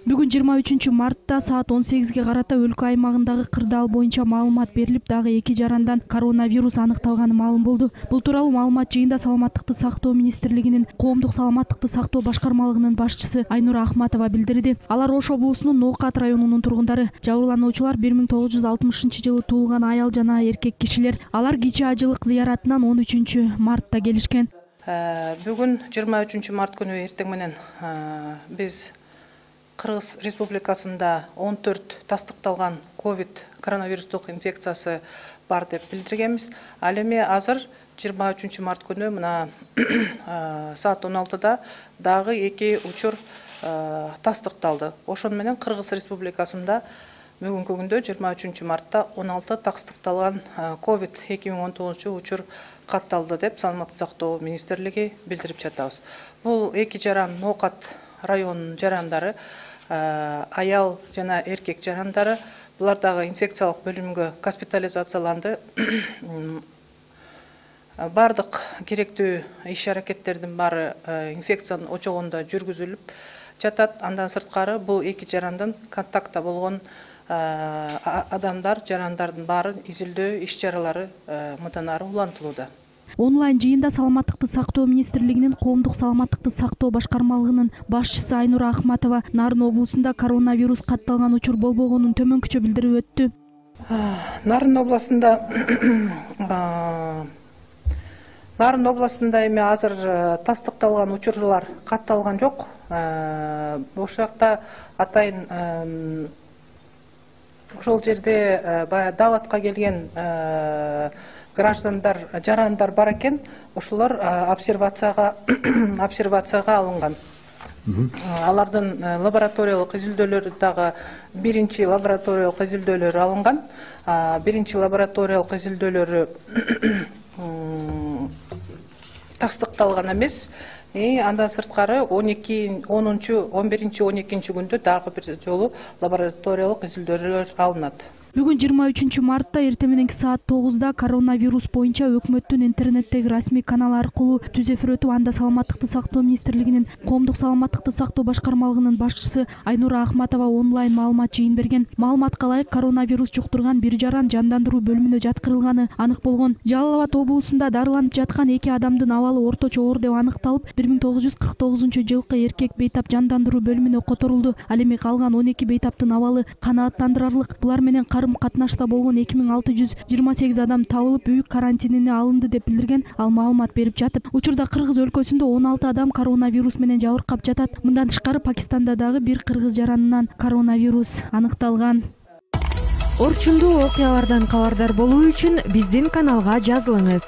Бүгүн 23 мартта саат 18-ге карата өлкө аймагындагы кырдаал боюнча маалымат берилип, дагы 2 жарандан коронавирус аныкталганы маалым болду. Бул тууралуу маалымат жыйында Саламаттыкты сактоо министрлигинин Коомдук саламаттыкты сактоо башкармалыгынын башчысы Айнура Ахматова билдирди. Алар Ош облусунун Ноокат районунун тургундары. Жабырлануучулар 1960-жылы туулган аял жана эркек кишилер. Алар кичи ажылык зыяратынан 13 мартта келишкен. Бүгүн 23 март күнү эртең менен биз Кыргыз Республикасында 14 тастыкталган ковид коронавирустук инфекциясы бар деп билдиргенбиз. Ал эми азыр 23 март күнү мына саат 16-да дагы 2 учур тастыкталды. Ошону менен Кыргыз Республикасында бүгүнкү күндө 23 мартта 16 тастыкталган ковид 2019 учур катталды деп Саламаттыкты сактоо министрлиги билдирип жатабыз. Бул 2 жаран Ноокат районунун жарандары, аял жана эркек жарандары. Булар дагы инфекциялык бөлүмгө госпитализацияланды. Бардык керектүү иш-аракеттердин баары инфекциянын очогунда жүргүзүлүп жатат. Андан сырткары бул 2 жарандан контактта болгон адамдар, жарандардын баары изилдөө иш-чаралары мындан ары улантылууда. Онлайн жыйында Саламаттыкты сактоо министрлигинин Коомдук саламаттыкты сактоо башкармалыгынын башчысы Айнура Ахматова Нарын облусунда коронавирус катталган учур болбогонун төмөнкүчө билдирип өттү. Нарын областында эми азыр тастыкталган учурлар катталган жок. Ошол жакта атайын ошол жерде баягы даватка келген граждандар, жарандар бар экен, ошолор обсервацияга алынган. Алардын лабораториялык изилдөөлөрү дагы биринчи лабораториялык изилдөөлөрү алынган. Биринчи лабораториялык изилдөөлөрү тастыкталган эмес. Андан сырткары 11-12 күндө дагы бир жолу лабораториялык изилдөөлөр алынат. Бүгүн 23 мартта эртең мененки саат 9-да коронавирус боюнча өкмөттүн интернеттеги расмий канал аркылуу түз эфир өтүп, анда Саламаттыкты сактоо министрлигинин Коомдук саламаттыкты сактоо башкармалыгынын башчысы Айнура Ахматова онлайн маалымат жыйын берген. Маалыматка ылайык, коронавирус жуктурган 1 жаран жандандыруу бөлүмүнө жаткырылганы анык болгон. Жалал Абад облусунда дарыланып жаткан 2 адамдын абалы орточо оор деп аныкталып, 1949-жылкы эркек бейтап жандандыруу бөлүмүнө которулду. Ал эми калган 12 бейтаптын абалы канааттандырарлык. Булар менен катнашта болгон 2628 адам табылып, үй карантинине алынды деп билдирген. Ал маалымат берип жатып, учурда Кыргыз өлкөсүндө 16 адам коронавирус менен жабыркап жатат. Мындан тышкары Пакистанда дагы 1 кыргыз жаранынан коронавирус аныкталган. Орчундуу окуялардан кабардар болуу үчүн биздин каналга жазылыңыз.